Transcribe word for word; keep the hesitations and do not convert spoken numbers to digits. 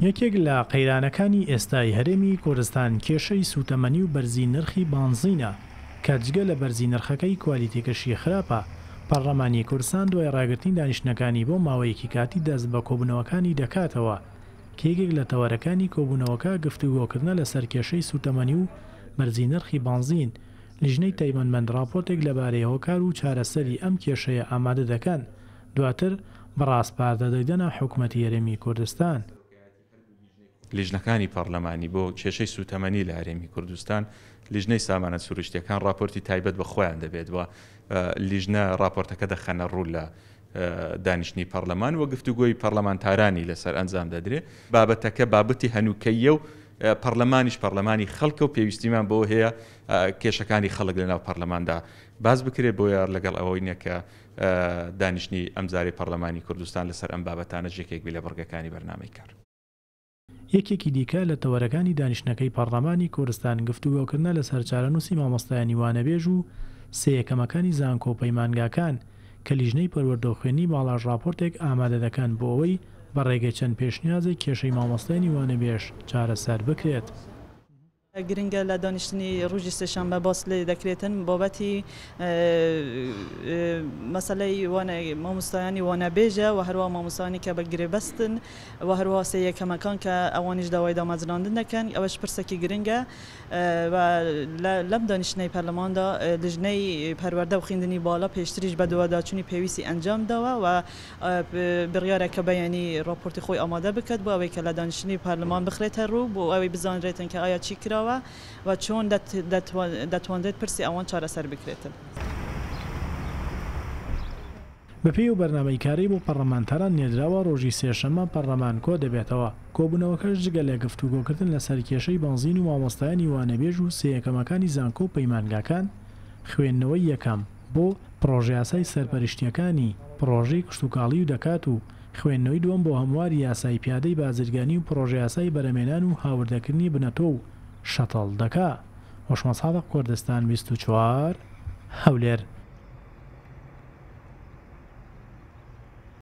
یەکێک لە قەیرانەکانی ئێستای هەرێمی کوردستان کێشەی سووتەمەنی و بەرزی نرخی بانزینە کە جگە لە بەرزی نرخەکەی کوالیتیەکەشی خراپە. پەرلەمانی کوردستان دوای ڕاگرتنی دانیشتنەکانی بۆ ماوەیەکی کاتی دەست بە کۆبوونەوەکانی دەکاتەوە کە یەکێک لە تەوەرەکانی کۆبوونەوەکە گفتوگۆکردنە لەسەر کێشەی سووتەمەنی و بەرزی نرخی بانزین. لیژنەی تایبەتمەند راپۆرتێک لەبارەی هۆکار و چارەسەری ئەم کێشەیە ئامادە دەکەن، دواتر بە ڕاسپاردە دەیدەنە حکومەتی هەرێمی کوردستان. لیژنەکانی پەرلەمانی بۆ کێشەی سووتەمەنی لە هەرێمی کوردستان، لیژنەی سامانە سروشتیەکان راپۆرتی تایبەت بە خۆیان دەبێت و لیژنە راپۆرتەکە دەخەنە ڕوو لە دانیشتنی پەرلەمان و گفتوگۆی پەرلەمانتارانی لەسەر ئەنجام دەدرێت. بابەتەکە بابەتی هەنووکەیە و پەرلەمانیش پەرلەمانی خەڵکە و پێویستیمان بۆ هەیە کێشەکانی خەڵک لەناو پەرلەماندا باز بکرێت. بۆیە لەگەڵ ئەوەی نییە کە دانیشتنی ئەمجارەی پەرلەمانی کوردستان لەسەر ئەم بابەتانە یەکێک بی لە بڕگەکانی بەرنامەی کار. یەکێکی دیکە لە تەوەرەکانی دانیشتنەکەی پەرلەمانی کوردستان گفتوگۆکردنە لەسەر چارەنووسی مامۆستایانی وانەبێژ و سێ یەکەمەکانی زانکۆ و پەیمانگاکان کە لیژنەی پەروەردە و خوێندنی باڵاش راپۆرتێک ئامادە دەکەن بۆ ئەوەی بە ڕێگەی چەند پێشنیازێک کێشەی مامۆستایانی وانەبێژ چارەسەر بکرێت. گرنگە لە دانیشتنی ڕۆژی سێشەممە باس لێ دەکرێتن بابەتی مەسەلەی مامۆستایانی وانەبێژە و هەروەها مامۆستایانی کە بە گرێبەستن و هەروەها سێ یەکەمەکان کە ئەوانیش داوای دامەزراندن دەکەن. ئەوەش پرسێکی گرنگە و لەم دانیشتنەی پەرلەماندا لیژنەی پەروەردە و خوێندنی باڵا پێشتریش بە دوواداچوونی پێویستی ئەنجام داوە و بڕیارە کە بەیانی راپۆرتی خۆی ئامادە بکات بۆ ئەوەی کە لە دانیشتنی پەرلەمان بخرێتە ڕوو بۆ ئەوەی بزانرێتن کە ئایا چی کراوە و چۆن دەتوانرێت پرسی ئەوان چارەسەر بکرێتن. بەپێی و بەرنامەی کاری بۆ پەرلەمانتاران نێردراوە ڕۆژی سێشەممە پەرلەمان کۆ دەبێتەوە. کۆبوونەوەکەش جگە لە گفتوگۆکردن لەسەر کێشەی بەنزین و مامۆستایانی وانەبێژ و سێ یەکەمەکانی زانکۆ و پەیمانگاکان، خوێندنەوەی یەکەم بۆ پرۆژەیاسای سەرپەرشتیەکانی پرۆژەی کشتوکاڵی و دەکات و خوێندنەوەی دووەم بۆ هەمواری یاسای پیادەی بازرگانی و پرۆژەیاسای بەرەمێنان و هاوردەکردنی بنەتۆ و شەتەڵ دەکا. هۆشمە سادق، کوردستان بیست و چوار، هەولێر.